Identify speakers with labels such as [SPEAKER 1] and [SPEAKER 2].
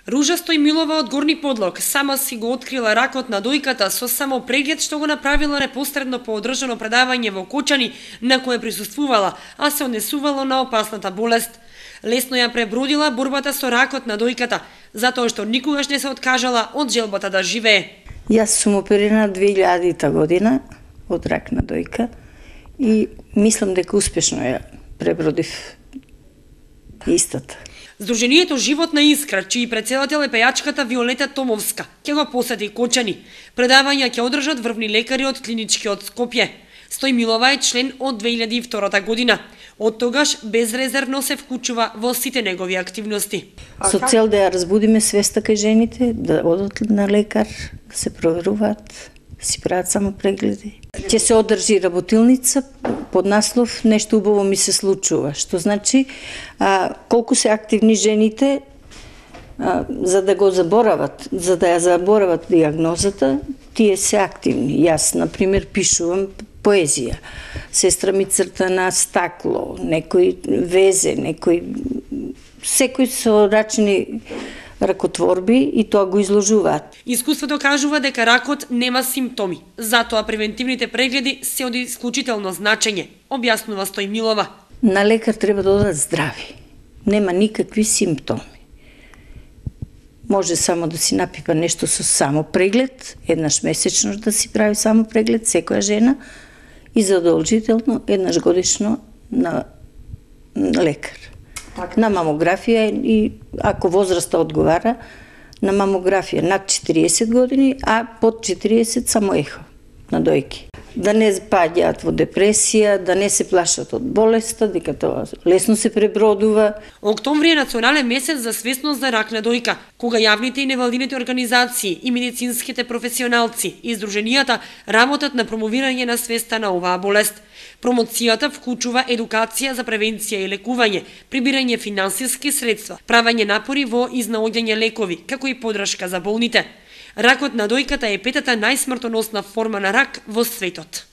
[SPEAKER 1] Ружа Стојмилова од Горни Подлог сама си го открила ракот на дојката со само преглед што го направила непосредно по одржано предавање во Кочани на кое присуствувала, а се однесувало на опасната болест. Лесно ја пребродила борбата со ракот на дојката, затоа што никогаш не се откажала од желбата да живее.
[SPEAKER 2] Јас сум оперирана 2000 година од рак на дојка и мислам дека успешно ја пребродив истата.
[SPEAKER 1] Сдруженијето Животна искра, чиј претседател е пејачката Виолета Томовска, ќе го посети Кочани. Предавања ќе одржат врвни лекари од клиничкиот Скопје. Стојмилова е член од 2002 година. Од тогаш безрезервно се вклучува во сите негови активности.
[SPEAKER 2] Со цел да ја разбудиме свеста кај жените, да одат на лекар, да се проверуваат, да си прават само прегледи. Ќе се одржи работилница под наслов "Нешто убаво ми се случува", што значи колку се активни жените за да го заборават, за да ја заборават диагнозата, тие се активни. Јас, например, пишувам поезија. Сестра ми црта на стакло, некој везе, секој со рачни ракотворби и тоа го изложуваат.
[SPEAKER 1] Искуството кажува дека ракот нема симптоми, затоа превентивните прегледи се од исклучително значење, објаснува Стојмилова.
[SPEAKER 2] На лекар треба да одат здрави. Нема никакви симптоми. Може само да си напипа нешто со само преглед, еднаш месечно да си прави само преглед секоја жена и задолжително еднаш годишно на лекар. На мамографија и ако возраста одговара, на мамографија над 40 години, а под 40 само ехо на дојки. Да не паѓаат во депресија, да не се плашат од болеста, дека тоа лесно се пребродува.
[SPEAKER 1] Октомври е национален месец за свесност за рак на дојка, кога јавните и невладините организации и медицинските професионалци и здруженијата работат на промовирање на свеста на оваа болест. Промоцијата вклучува едукација за превенција и лекување, прибирање финансиски средства, правење напори во изнаоѓање лекови, како и подршка за болните. Ракот на дојката е петата најсмртоносна форма на рак во светот.